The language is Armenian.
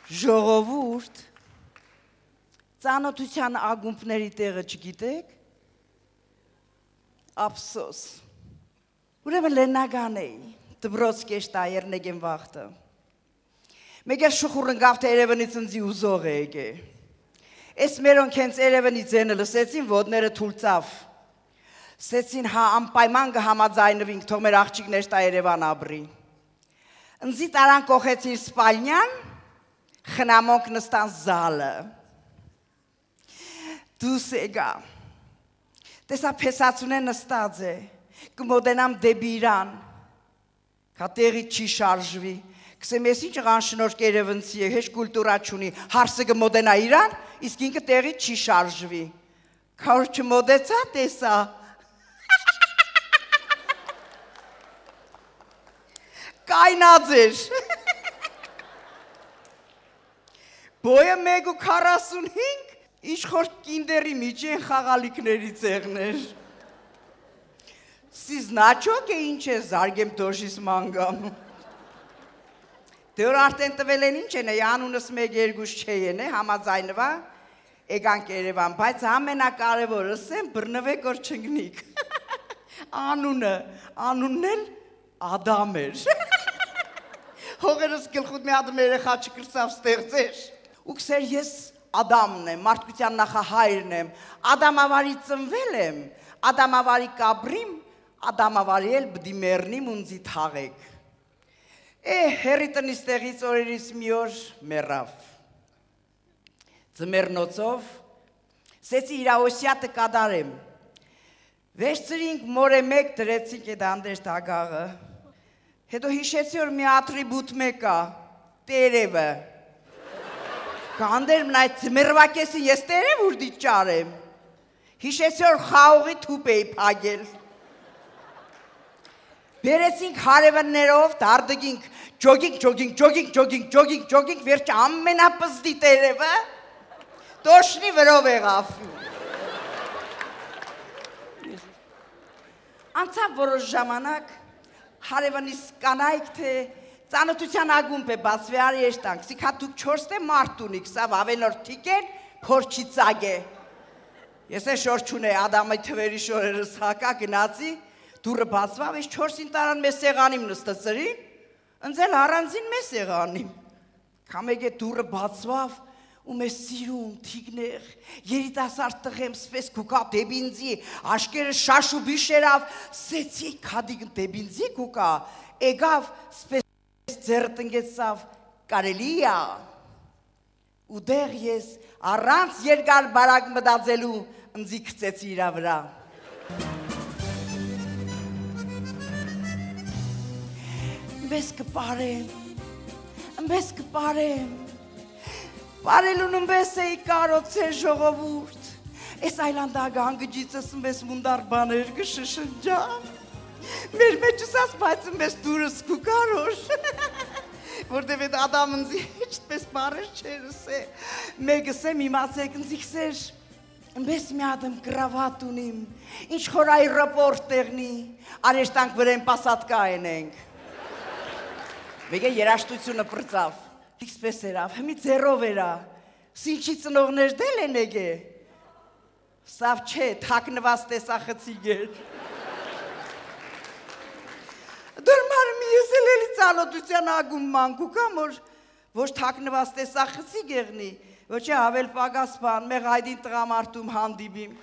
Ժողովուրդ, ծանոթության ագումբների տեղը չգիտեք, ափսոս, ուրեմն լեննագան էի, դբրոց կեշտայերն եկեմ վաղթը, մեկ ես շուխուրն գավթը երևնից ընձի ուզող է եկե, ես մերոնք հենց երևնի ձենը լսեցին, ոտները թուլծավ, սեցին անպայման կհամաձայնվինք, թող մեր աղջիկներ տա Երևան ապրի, ընձի տարան կողեցիր սպալնյան, խնամոնք նստան զալը, դուս եկա, տեսա փեսացունե նստած է, կմոտենամ դեպի իրան, կատեղի չի շարժվի, կսեմ ես ինչ ղանշնորք երևնցի է, հեչ կուլտուրա չունի, հարսը կմոտենա իրան, իսկ ինքը տեղի չի շարժվի, կավոր չմոտեցա տեսա, կայնած էր, բոյը 1:45, իշխոր կինդերի միջ են խաղալիքների ծեղներ, սիզնաչոք է ինչ է զարգեմ տոշիս մանգամ, դե որ արդեն տվել են ինչ են է, անունս 1-2 չէ են է, համաձայնվա, եկանք Երևան, բայց ամենակարևորս եմ բրնվեք որ չգնիք, անունն էլ Ադամ էր, հողերս գլխուտ մի ադմ երեխա չկրծավ ստեղծեր, ու կսեր ես Ադամն եմ, մարդկության նախահայրն եմ, Ադամավարի ծնվել եմ, Ադամավարի կաբրիմ, Ադամավարի էլ բդի մերնիմ ունձի թաղեք, հերի տնից տեղից օրերից մի օր մերավ, ձմերնոցով, սեցի իրավոսյատը կադարեմ, վերցրինք մորե մեկ դրեցինք էդ անդեշտ ագաղը, հետո հիշեցի որ մի ատրիբուտ մեկա, տերևը, կանդերմն այդ ձմերվակեսին ես տերև ուրդի ճարեմ, հիշեցի որ խաղողի թուպ էի պագել, բերեցինք հարևններով, դարդգինք, ջոգինք, վերջ ամենապզդի տերևը, տոշնի վրով եղավ, անցավ որոշ ժամանակ, հարևնիս կանայք թե ծանոթության ագումբ է բացվի արի եշտանք, սիք հատուկ 4 թե մարդ ունիք, սավ ավելորդ թիկեր, փորչի ծագ է, ես է շոր չունե, ադամի թվերի շորերս հակա գնացի, դուրը բացվավ, ես 4-ին տարան մեզ սեղանիմ նստծրին, ընձել առանձին մեզ սեղանիմ, կամեկ է դուրը բացվավ, ու մեզ սիրում, թիգներ, երիտասարդ տղեմ, սպես կուկա դեբինձի, աշկերը շաշ ու բիշերավ, սեցի կադիգ դեբինձի կուկա, էգավ, սպես ձերը տնգեցավ, կարելիա, ու դեղ ես առանց երկար բարակ մդածելու ընձի կծեցի իրա վրա։ Ըմբես կպարեմ, Պարելուն ըմբես էի կարոցեր ժողովուրդ, ես այլանդագան գջիցս ըմբես մունդար բաներ գշշնջա, մեր մեջս աս բայց ըմբես դուրս կու կարոր, որտև էդ ադամ ընձի հեչտպես բարեր չերս է, մեկս եմ իմացեք ընձիքսեր, ըմբես մի ադմ գրավատ ունիմ, ինչ խորայի ռպորտ տեղնի, արեշտանք վրեն պասատկա ենենք, մեկ է երաշտությունը պրծավ, Իքսպես երավ, հմի ձերով երա, սինչի ծնողներ դել են եգե, սավ չէ, թակնված տեսախցիկ էր, դրմար մի ես էլ էլի ծալոտության ագում մանկուկամ, ոչ թակնված տեսախցիկ եղնի, ոչ է ավել պագասպան, մեղ այդին տղամարտում հանդիբիմ,